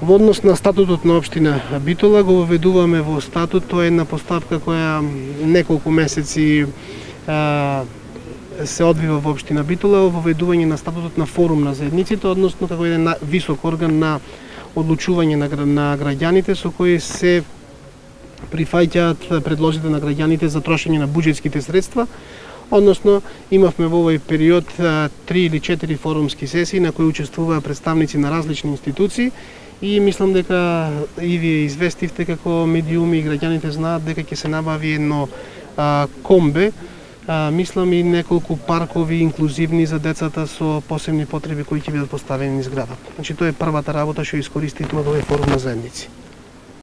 Во однос на статутот на општина Битола го воведуваме во статут, тоа е една постапка која неколку месеци се одвива во општина Битола, воведување на статутот на форум на заедниците, односно како еден висок орган на одлучување на граѓаните со кои се прифаќаат предложите на граѓаните за трошење на буџетските средства. Односно, имавме во овој период 3 или 4 форумски сесии на кои учествуваа представници на различни институции и мислам дека и вие известивте како медиуми и граѓаните знаат дека ќе се набави едно комбе, мислам и неколку паркови инклузивни за децата со посебни потреби кои ќе бидат поставени низ градот. Значи тоа е првата работа што искористивме во овој форум на заедници.